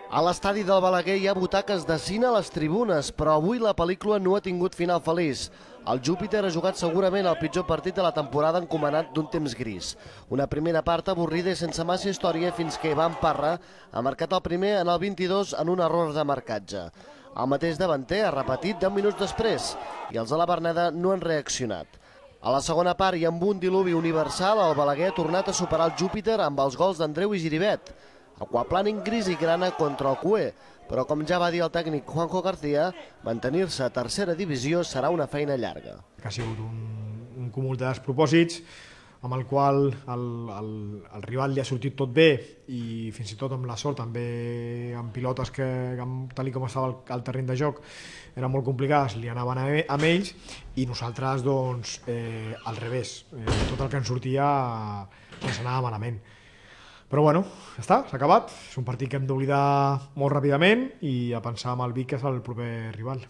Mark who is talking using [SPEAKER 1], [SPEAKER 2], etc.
[SPEAKER 1] A l'estadi del Balaguer hi ha butaques de cine a les tribunes, però avui la pel·lícula no ha tingut final feliç. El Júpiter ha jugat segurament el pitjor partit de la temporada encomanat d'un temps gris. Una primera part avorrida i sense massa història fins que Ivan Parra ha marcat el primer en el 22 en un error de marcatge. El mateix davanter ha repetit 10 minuts després i els de la Berneda no han reaccionat. A la segona part i amb un diluvi universal, el Balaguer ha tornat a superar el Júpiter amb els gols d'Andreu i Giribet. Aquaplaning gris i grana contra el Cué, però com ja va dir el tècnic Juanjo García, mantenir-se a tercera divisió serà una feina llarga.
[SPEAKER 2] Ha sigut un cúmul de despropòsits amb el qual el rival li ha sortit tot bé i fins i tot amb la sort també amb pilotes que tal com estava el terreny de joc eren molt complicades, li anaven amb ells i nosaltres doncs al revés, tot el que ens sortia ens anava malament. Però bueno, ja està, s'ha acabat, és un partit que hem d'oblidar molt ràpidament i a pensar amb el Vic que és el proper rival.